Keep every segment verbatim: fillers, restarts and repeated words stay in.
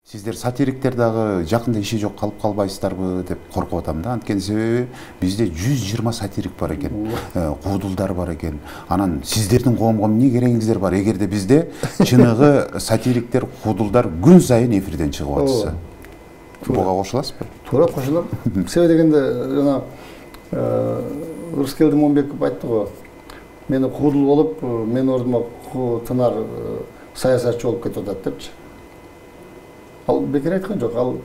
Сиздер сатириктер дагы жакында иши жок калып калбайсыздарбы деп коркуп атам да. Анткени себеби бизде жүз жыйырма сатирик бар экен, куудулдар бар экен. Анан сиздердин коомго эмне керегиңиздер бар? Эгерде бизде чыныгы сатириктер, куудулдар күн сайын эфирден чыгып атса. Буга кошуласызбы? Туура кошулам. Себеби дегенде жана Рыскелди Момбеков айтты го. Мени куудул болуп, менин ордума тынар саясатчы болуп кетип атат депчи. Ал бекер айткан жок. Ал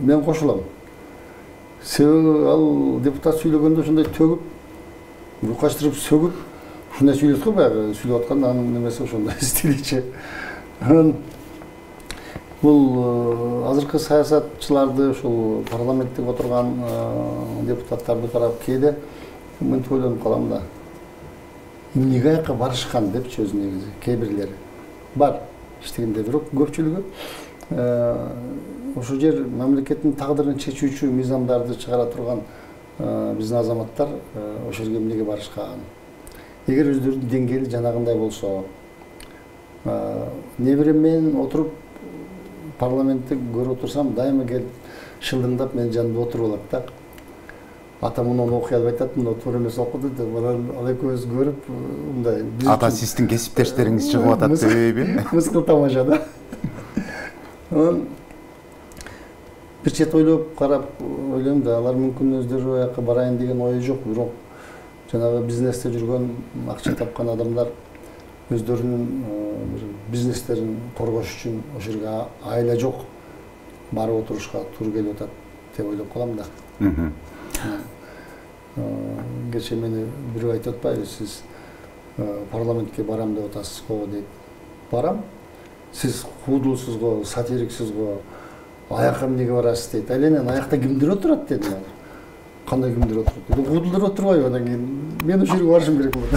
мен кошулам. Себеби ал депутат сүйлөгөндө ушундай төгүп, рукаштырып, сөгүп, ушундай сүйлөйт го баягы сүйлөп атканда анын немеси ошондой стиличи. Бул азыркы саясатчыларды, ушул парламенттик отурган депутаттарды карап кээде мынтип ойлонуп калам да. Эмнеге аяка барышкан депчи өзү негизи кээ бирлери. Бар иштегенде, бирок көпчүлүгү ошол жер мамлекеттин тагдырын чечүүчү мыйзамдарды чыгара турган биздин азаматтар ошол жерге эмнеге барышкан. Эгер өздөрүнүн деңгээли жанагындай болсо, неберем менен отуруп парламентте көрүп отурсам, дайыма келип шылдыңдап менин жанымда отуруп алат да. Ата мунун окуй албай атат, мына туура эмес окуду деп, ал экөөбүз көрүп, мындай. Ата сиздин кесиптештериңиз чыгып атат себеби? Мыскыл тамаша да. Анан бир чет ойлоп карап ойлойм да, алар мүмкүн өздөрү аяка барайын деген ою жок, бирок жанагы бизнесте жүргөн, акча тапкан адамдар өздөрүнүн бизнестерин коргош үчүн ошол жерге айла жок барып отурушка туура келип атат деп ойлоп калам да. Герчи мени бирөө айтып атпайбы, сиз парламентке барам деп атасыз го дейт. Барам. Сиз куудулсуз го, сатириксиз го, аяка эмнеге барасыз дейт. Ал эми аякта кимдир отурат дедим. Кандай кимдир отурат? Куудулдар отурбайбы, анан кийин мен ошол жерге барышым керек болот.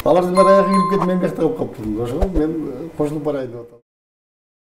Алардын баары аяка кирип кетип мен биякта калып калыптырмын. Ошого мен кошулуп барайын деп атам.